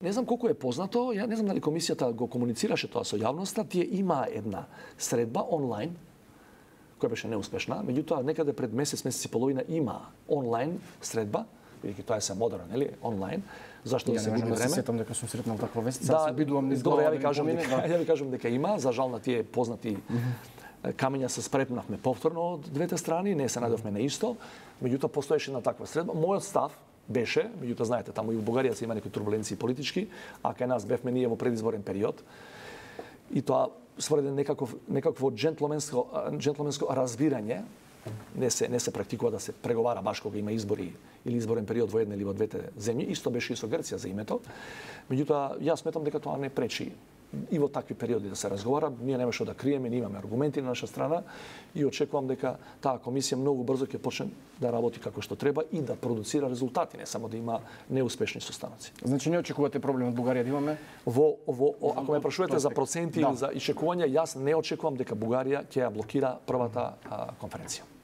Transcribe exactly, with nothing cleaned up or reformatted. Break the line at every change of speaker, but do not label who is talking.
Не знам колку е познато, ја не знам дали комисијата го комуницираше тоа со јавноста, тие има една средба онлайн која беше неуспешна, меѓутоа некаде пред месец, месец и половина има онлайн средба, бидејќи тоа е се модерно, нели, онлайн. Зашто да се губи време?
Ја не сетам дека сум сретнал таква вест,
да,
се обидувам низ
глава.
Добро,
ја ви кажам дека, да. ја ви кажам дека има, за жал на тие познати mm -hmm. камења се спретнавме повторно од двете страни, не се најдовме на исто, меѓутоа постоеше една таква средба. Мојот став беше, меѓутоа знаете, таму и во Бугарија се има некои турбуленции политички, а кај нас бевме ние во предизборен период. И тоа според некаков некакво джентлменско джентлменско разбирање не се не се практикува да се преговара баш кога има избори или изборен период во една или во двете земји. Исто беше и со Грција за името. Меѓутоа јас сметам дека тоа не пречи и во такви периоди да се разговара. Ние нема што да криеме, ние имаме аргументи на наша страна и очекувам дека таа комисија многу брзо ќе почне да работи како што треба и да продуцира резултати, не само да има неуспешни состаноци.
Значи не очекувате проблем од Бугарија да имаме?
Во, во, ако ме прашувате за проценти
да.
или за ишекување, јас не очекувам дека Бугарија ќе ја блокира првата а, конференција.